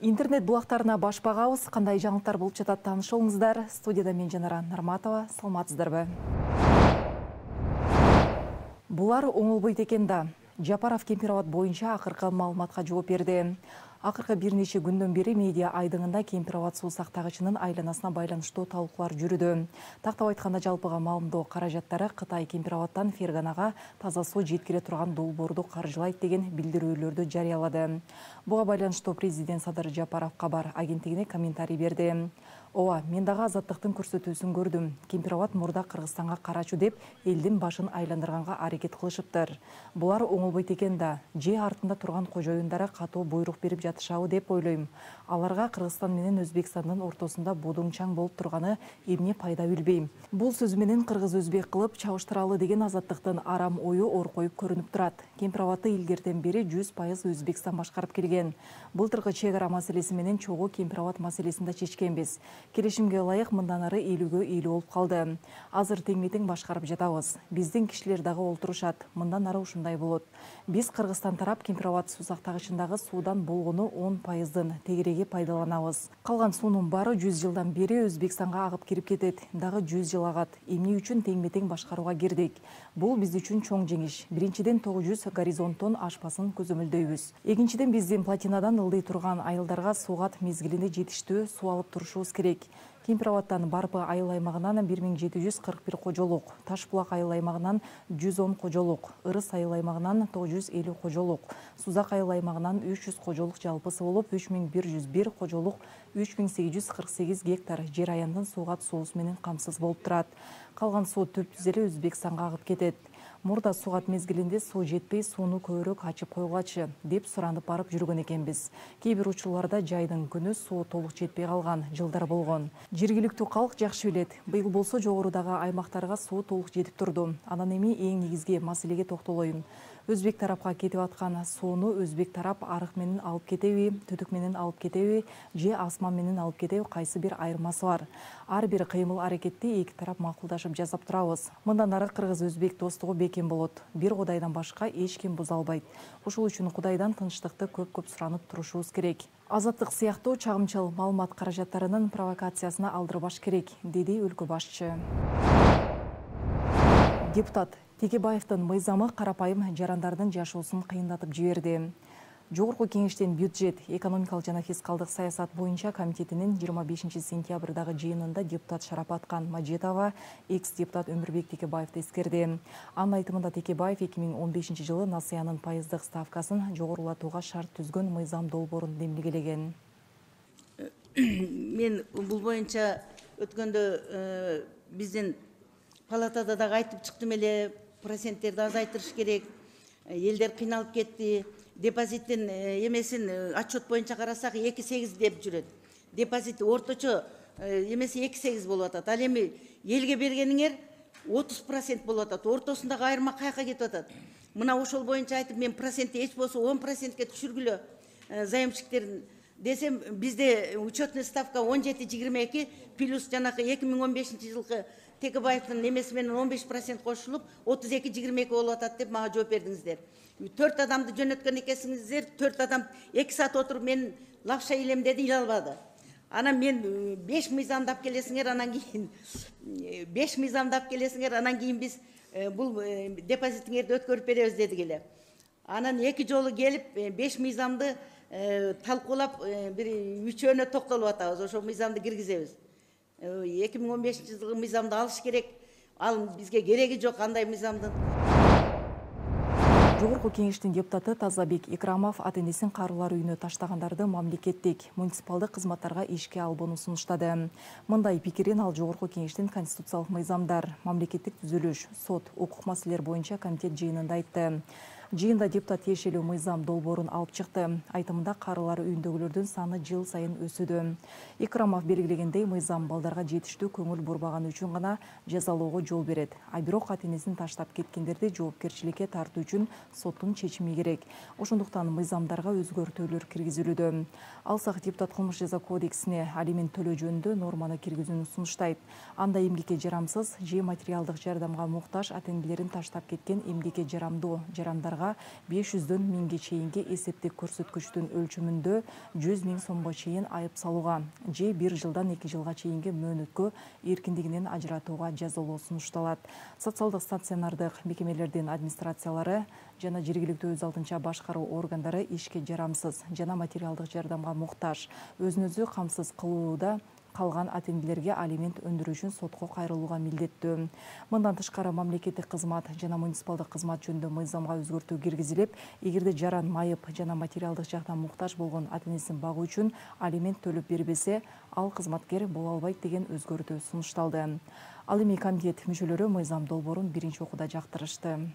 Интернет булактарына баш багабыз. Кандай жаңылыктар болуп жатат таанышыңыздар. Студияда мен Жанара Нарматова. Саламатсыздарбы? Булар оңолбойт экен да. Жапаров Кемпироват боюнча акыркы маалыматка жооп берди. Акыркы бир нече күндөн бери медиа айдыңында Кемпироват суу сактагычынын айланасына байланыштуу талкуулар жүрүүдө. Тактап айтканда жалпыга маалымдоо каражаттары Кытай Кемпироваттан Ферганага таза суу жеткире турган долбоорду каржылайт деген билдирүүлөрдү жарыялады. Буга байланыштуу президент Садыр Жапаров кабар агенттигине комментарий берди. Ооба, мен дагы Азаттыктын көрсөтүүсүн көрдүм. Кемпироват мурда Кыргызстанга карачу деп элдин башын айландырганга аракет кылышыптыр. Булар оңолбойт экен да. Же артында турган кожоюндары катуу буйрук берип жатышабы деп ойлойм. Аларга Кыргызстан менен Өзбекстандын ортосунда бодуңчаң болуп турганы эмне пайда билбейм. Бул сөзү менен кыргыз-өзбек кылып чабыштыралы деген Азаттыктын арам ою оркоюп көрүнүп турат. Кемпироватты илгертен бери 100% Өзбекстан башкарып келген. Былтыркы чек ара маселеси менен чогуу Кемпироват маселесин да чечкенбиз. Келишимге ылайык мындан ары элүүгө элүү болуп калды. Азыр теңме-тең башкарып жатабыз. Биздин кишилер дагы олтурушат. Мындан ары ушундай болот. Биз Кыргызстан тарап Кемпироват суу сактагычындагы суудан болгону 10%-дын тегереги пайдаланабыз. Калган суунун баары 100 жылдан бери Өзбекстанга агып кирип кетет. Дагы 100 жыл агат. Эмне үчүн теңме-тең башкарууга кирдик? Бул биз үчүн чоң жеңиш. Биринчиден 900 горизонттон ашпасын көзөмөлдөйбүз. Экинчиден биздин плотинадан ылдый турган айылдарга суугат мезгилинде жетиштүү суу алып турушубуз керек. Кемпироваттан Барпы айыл аймагынан 1741 кожолук, Ташбулак айыл аймагынан 110 кожолук, Ырыс айыл аймагынан 950 кожолук, Сузак айыл аймагынан 300 кожолук жалпысы болуп 3101 кожолук 3848 гектар жер аянтын суугат суусу менен камсыз болуп турат. Калган суу түптүз эле Өзбекстанга агып кетет. Мурда суугат мезгилинде суу жетпей, сууну көбүрөөк ачып койгулачы деп суранып барып жүргөн экенбиз. Кээ бир учурларда жайдын күнү суу толук жетпей калган жылдар болгон. Жергиликтүү калк жакшы билет. Быйыл болсо жогорудагы аймактарга суу толук жетип турду. Анан эми эң негизги маселеге токтолоюн. Өзбек тарапка кетип аткан сууну өзбек тарап арык менен алып кетеби, түтүк менен алып кетеби, же асман менен алып кетеби, кайсы бир айырмасы бар. Ар бир кыймыл аракетти эки тарап макулдашып жасап турабыз. Мындан ары кыргыз-өзбек достугу бекем болот. Бир Кудайдан башка эч ким буза албайт. Ушул үчүн Кудайдан тынчтыкты көп-көп суранып турушубуз керек. Азаттык сыяктуу чагымчыл маалымат каражаттарынын провокациясына алдырбаш керек, деди өлкө башчы. Депутат Текебаевдин мыйзамы карапайым жарандардын жашоосун кыйындатып жиберди. Жогорку кеңештин бюджет, экономикалык жана фискалдык саясат боюнча комитетинин 25 сентябрдагы жыйынында депутат Шарапаткан Мажетова экс-депутат Өмүрбек Текебаевди эскерди. Анын айтымында Текебаев 2015 жылы насыянын пайыздык ставкасын жогорулатууга шарт түзгөн мыйзам долбоорун демилгелеген. Мен бул боюнча өткөндө биздин палатада дагы айтып чыктым эле, проценттерди азайтырыш керек. Элдер кыйналып кетти. Депозиттин эмесин отчет боюнча карасак 2,8 деп жүрөт. Депозит орточо эмеси 2,8 болуп атат. Ал эми элге бергениңер 30% болуп атат. Ортосундагы айырма каяка кетип атат? Мына ошол боюнча айтып, мен процентти эч болсо 10%ке түшүргүлө заемщиктерин десем, бизде учетный ставка 17-22 плюс жанакы 2015 жылкы Текебаевдин эмеси менен 15% кошулуп 32-22 болуп атат деп мага жооп бердиңиздер. 4 адамды жөнөткөн экенсиңиздер, 4 адам 2 саат отуруп мен лапша илем деди, иле албады. Анан мен 5 мыйзамдап келесиңер, анан кийин 5 мыйзамдап келесиңер, анан кийин биз бул депозитиңерди өткөрүп беребиз дедик эле. Анан 2 жолу келип 5 мыйзамды талкуулап бир 3-өөнө токтолуп атабыз. Ошо мыйзамды киргизебиз. 2015 жылкы мыйзамды алыш керек. Ал бизге кереги жок андай мыйзамдын. Жогорку кеңештин депутаты Тазабек Икрамов ата-энесин каруулар үйүнө таштагандарды мамлекеттик, муниципалдык кызматтарга ишке албоону сунуштады. Мындай пикирин ал Жогорку кеңештин конституциялык мыйзамдар, мамлекеттик түзүлүш, сот, укук маселелер боюнча комитет жыйынында айтты. Жыйында депутат тиешелүү мыйзам долбоорун алып чыкты. Айтымында карылар үйүндөгүлөрдүн саны жыл сайын өсүүдө. Икрамов белгилегендей, мыйзам балдарга жетиштүү көңүл бурбаганы үчүн гана жазалоого жол берет. А бирок ата-энесин таштап кеткендерди жоопкерчиликке тартуу үчүн соттун чечими керек. Ошондуктан мыйзамдарга өзгөртүүлөр киргизилүүдө. Алсак депутат кылмыш жаза кодексине алимент төлөө жөнүндө норманы киргизүүнү сунуштайт. Анда эмгекке жарамсыз же материалдык жардамга муктаж ата-энелерин таштап кеткен эмгекке жарамдуу жарандарга кылмыштарга 500дөн 1000ге чейинки эсептик көрсөткүчтүн өлчөмүндө 100 000 сомго чейин айып салууга же 1 жылдан 2 жылга чейинки мөөнөткө эркиндигинен ажыратууга жазалоо сунушталат. Социалдык стационардык мекемелердин администрациялары жана жергиликтүү өз алдынча башкаруу органдары ишке жарамсыз жана материалдык жардамга муктаж, өзүн өзү камсыз кылууда калган ата-энелерге алимент өндүрүү үчүн сотко кайрылууга милдеттүү. Мындан тышкары мамлекеттик кызмат жана муниципалдык кызмат жөнүндө мыйзамга өзгөртүү киргизилип, эгерде жаран майып жана материалдык жактан муктаж болгон ата-энесин багуу үчүн алимент төлөп бербесе, ал кызматкер боло албайт деген өзгөртүү сунушталды. Ал эми комитет мүчөлөрү мыйзам долбоорун биринчи окууда жактырышты.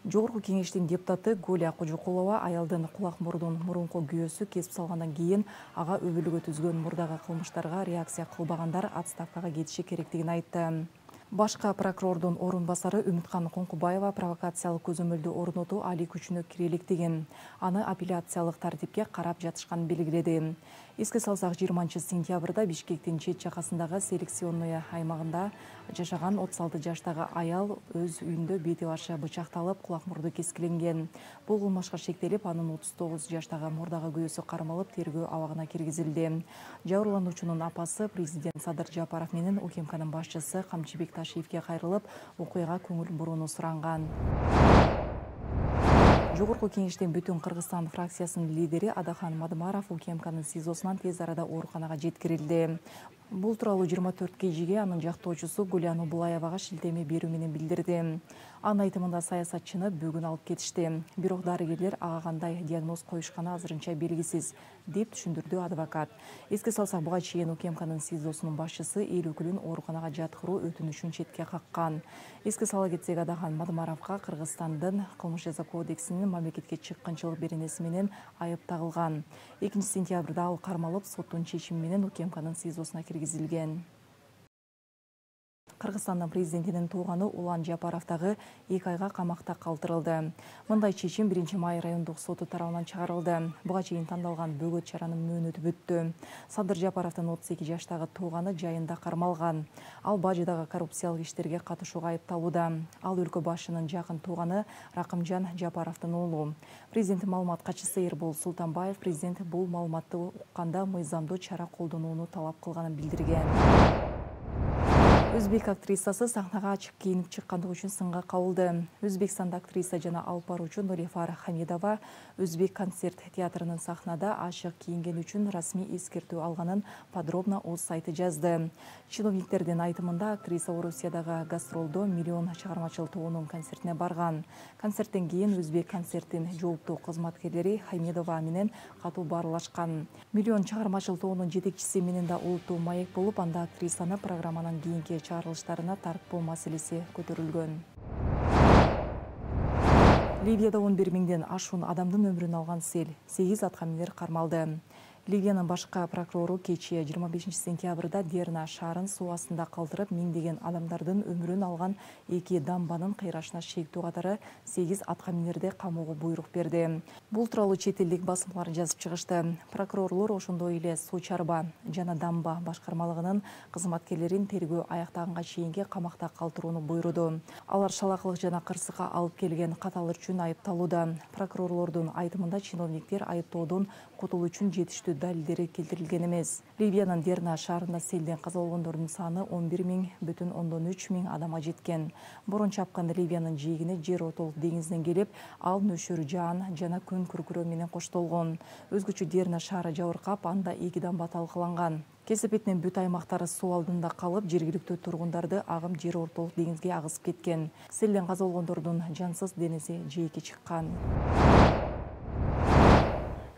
Жогорку кеңештин депутаты Гуля Кожокулова аялдын кулак-мурдун мурунку күйөөсү кесип салгандан кийин ага өбөлгө түзгөн мурдагы кылмыштарга реакция кылбагандар отставкага кетиши керектигин айтты. Башка прокурордун орун басары Үмүткан Коңкубаева провокациялык көзөмөлдү орнотуу али күчүнө кире электигин, аны апелляциялык тартипке карап жатышканын белгиледи. Эске салсак, 20-сентябрда Бишкектин чет жакасындагы селекционный аймагында жашаган 36 жаштагы аял өз үйүндө бети башы бычакталып, кулак-мурду кескиленген. Бул кылмышка шектелип, анын 39 жаштагы мурдагы күйөөсү кармалып, тергөө абагына киргизилди. Жабырлануучунун апасы президент Садыр Жапаров менен УКМКнын башчысы Камчыбек Ташиевке кайрылып, окуяга көңүл бурууну суранган. Жогорку кеңештин Бүтүн Кыргызстан фракциясынын лидери Адахан Мадымаров УКМКнын СИЗОсунан тез арада ооруканага жеткирилди. Бул тууралуу 24 KGге анын жактоочусу Гуля Нубулаевага шилтеме берүү менен билдирди. Анын айтымында саясатчыны бүгүн алып кетишти. Бирок дарыгерлер ага кандай диагноз коюшканы азырынча белгисиз, деп түшүндүрдү адвокат. Эске салсак, буга чейин УКМКнын СИЗОсунун башчысы эл өкүлүн ооруканага жаткыруу өтүнүшүн четке каккан. Эске сала кетсек, Адахан Мадымаровго Кыргызстандын кылмыш жаза кодексинин мамлекетке чыккынчылык беренеси менен айып тагылган. 2-сентябрда ал кармалып, соттун чечими менен УКМКнын СИЗОсуна киргизилген. Кыргызстандын президентинин тууганы Улан Жапаров дагы 2 айга камакта калтырылды. Мындай чечим 1-май райондук соту тарабынан чыгарылды. Буга чейин тандалган бөгөт чаранын мөөнөтү бүттү. Садыр Жапаровдун 32 жаштагы тууганы жайында кармалган. Ал бажыдагы коррупциялык иштерге катышууга айыпталууда. Ал өлкө башчынын жакын тууганы Ракымжан Жапаровдун уулу. Президент маалымат катчысы Эрбол Султанбаев президент бул маалыматты укканда мыйзамдуу чара колдонууну талап кылганын билдирген. Өзбек актрисасы сахнага ачык кийинип чыккандыгы үчүн сынга кабылды. Өзбекстанда актриса жана алып баруучу Нурифар Хамидова Өзбек концерт театрынын сахнада ачык кийингени үчүн расмий эскертүү алганын подробно өз сайты жазды. Чиновниктердин айтымында актриса Орусиядагы гастролдо миллион чыгармачыл тоонун концертине барган. Концерттен кийин Өзбек концерттин жооптуу кызматкерлери Хамидова менен катуу баарлашкан. Миллион чыгармачыл тоонун жетекчиси менен да улуттуу маек болуп, анда актрисаны программанын кийинки чыгарылыштарына тартпоо маселеси көтөрүлгөн. Ливияда 11 000ден ашуун адамдын өмүрүн алган сел, 8 аткаминер кармалды. Ливиянын башкы прокурору кечээ 25-сентябрда Дерна шаарын суу астында калтырып, миңдеген адамдардын өмүрүн алган 2 дамбанын кыйрашына шектүү катары 8 аткаминерди камоого буйрук берди. Бул тууралуу чет элдик басмалар жазып чыгышты. Прокурорлор ошондой эле суу чарба жана дамба башкармалыгынын кызматкерлерин тергөө аяктаганга чейинки камакта калтырууну буйруду. Алар шалакылык жана кырсыкка алып келген каталар үчүн айыпталууда. Прокурорлордун айтымында чиновниктер айыптоодон кутулуу үчүн жетиштүү далилдери келтирилген эмес. Ливиянын Дерна шаарында селден каза болгондордун саны 11,3 миң адамга жеткен. Борон чапкан Ливиянын жээгине жер ортолук деңизден келип, ал нөшөр жаан жана күн күркүрөө менен коштолгон. Өзгөчө Дерна шаары жабыркап, анда 2 дамба талкаланган. Кесепетинин бүт аймактары суу алдында калып, жергиликтүү тургундарды агым жер ортолук деңизге агызып кеткен. Селден каза болгондордун жансыз денеси жээкке чыккан.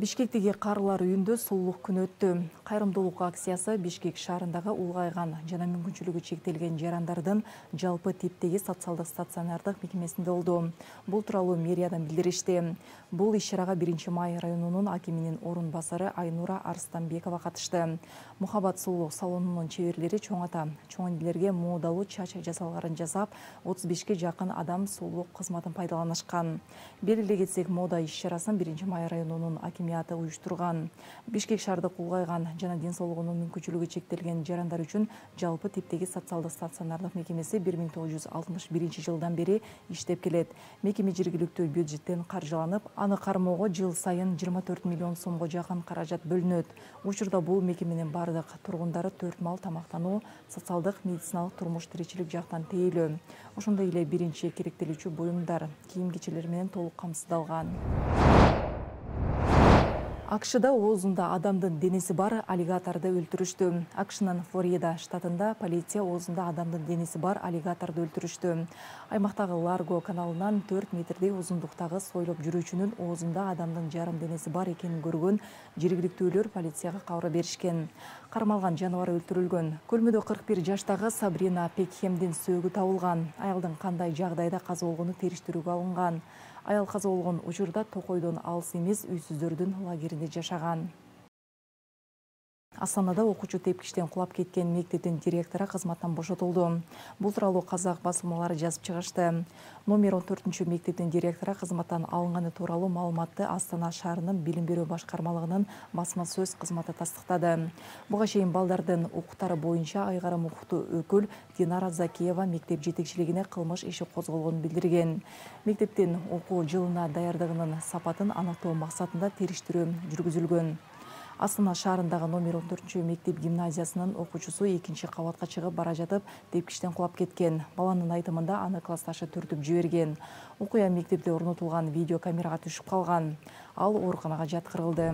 Бишкектеги карылар үйүндө сулуулук күнү өттү. Кайрымдуулук акциясы Бишкек шаарындагы улгайган жана мүмкүнчүлүгү чектелген жарандардын жалпы типтеги социалдык стационардык мекемесинде болду. Бул тууралуу мэриядан билдиришти. Бул иш-чарага 1-май районунун акиминин орун басары Айнура Арстанбекова катышты. Мухаббат сулуулук салонунун чеберлери чоң ата, чоң энелерге моодалуу чач жасалгарын жасап, 35ке жакын адам сулуулук кызматын пайдаланышкан. Белгилей кетсек, мода иш-чарасын 1-май районунун акими жамыяты уюштурган. Бишкек шаардык улгайган жана ден соолугунун мүмкүнчүлүгү чектелген жарандар үчүн жалпы типтеги социалдык стационардык мекемеси 1961 жылдан бери иштеп келет. Мекеме жергиликтүү бюджеттен каржыланып, аны кармоого жыл сайын 24 миллион сомго жакын каражат бөлүнөт. Учурда бул мекеменин бардык тургундары 4 мал тамактануу, социалдык, медициналык, турмуш тиричилик жактан тейлөө. Ошондой эле биринчи керектелүүчү буюмдар, кийим-кечелер менен толук камсыздалган. АКШда оозунда адамдын денеси бар аллигаторду өлтүрүштү. АКШнын Флорида штатында полиция оозунда адамдын денеси бар аллигаторду өлтүрүштү. Аймактагы Ларго каналынан 4 метрдей узундуктагы сойлоп жүрүүчүнүн оозунда адамдын жарым денеси бар экенин көргөн жергиликтүүлөр полицияга кабар беришкен. Кармалган жаныбар өлтүрүлгөн. Көлмөдө 41 жаштагы Сабрина Пекхемдин сөөгү табылган. Аялдын кандай жагдайда каза болгону териштирүүгө алынган. Аял каза болгон учурда Токойдон алыс эмес үйсүздөрдүн лагеринде жашаган. Астанада окуучу тепкичтен кулап кеткен мектептин директору кызматтан бошотулду. Бул тууралуу казак басылмалары жазып чыгышты. Номер 14 мектептин директору кызматтан алынганы тууралуу маалыматты Астана шаарынын билим берүү башкармалыгынын басма сөз кызматы тастыктады. Буга чейин балдардын укуктары боюнча айгарым укуктуу өкүл Динара Закиева мектеп жетекчилигине кылмыш иши козголгонун билдирген. Мектептин окуу жылына даярдыгынын сапатын аныктоо максатында териштирүү жүргүзүлгөн. Астана шаарындагы номер 14 мектеп гимназиясынын окуучусу 2 кабатка чыгып бара жатып тепкичтен кулап кеткен. Баланын айтымында аны классташы түртүп жиберген. Окуя мектепте орнотулган видео камерага түшүп калган. Ал ооруканага жаткырылды.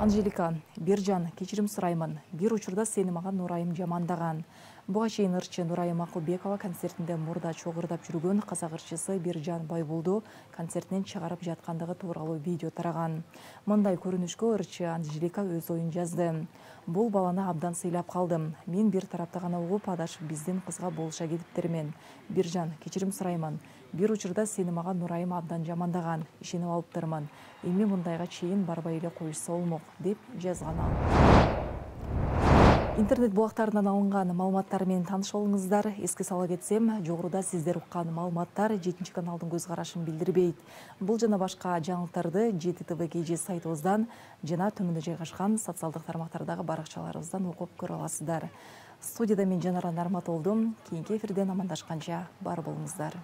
Анжелика, Биржан, кечирим сураймын. Бир учурда сени мага Нурайым жамандаган. Буга чейин ырчы Нурайым Акылбекова концертинде мурда чогурдап жүргөн казак ырчысы Биржан Байбулду концертинен чыгарып жаткандыгы тууралуу видео тараган. Мындай көрүнүшкө ырчы Анжелика өз оюн жазды. Бул баланы абдан сыйлап калдым. Мен бир тарапта гана угуп, адашып биздин кызга болуша кетиптермен. Биржан, кечирим сураймын. Бир учурда сени мага Нурайым абдан жамандаган. Ишенип алыптырмын. Эми мындайга чейин барбай эле коюшса болмок, деп жазган ал. Интернет булактарынан алынган маалыматтар менен тааныш болуңуздар. Эске сала кетсем, жогоруда сиздер уккан маалыматтар 7 каналдын көз карашын билдирбейт. Бул жана башка жаңылыктарды JTTV сайтыбыздан жана төмөндө жайгашкан социалдык тармактардагы баракчаларыбыздан окуп көрө аласыздар. Студияда мен Жанара Нарматолдум. Кийинки эфирден амандашканча бар болуңуздар.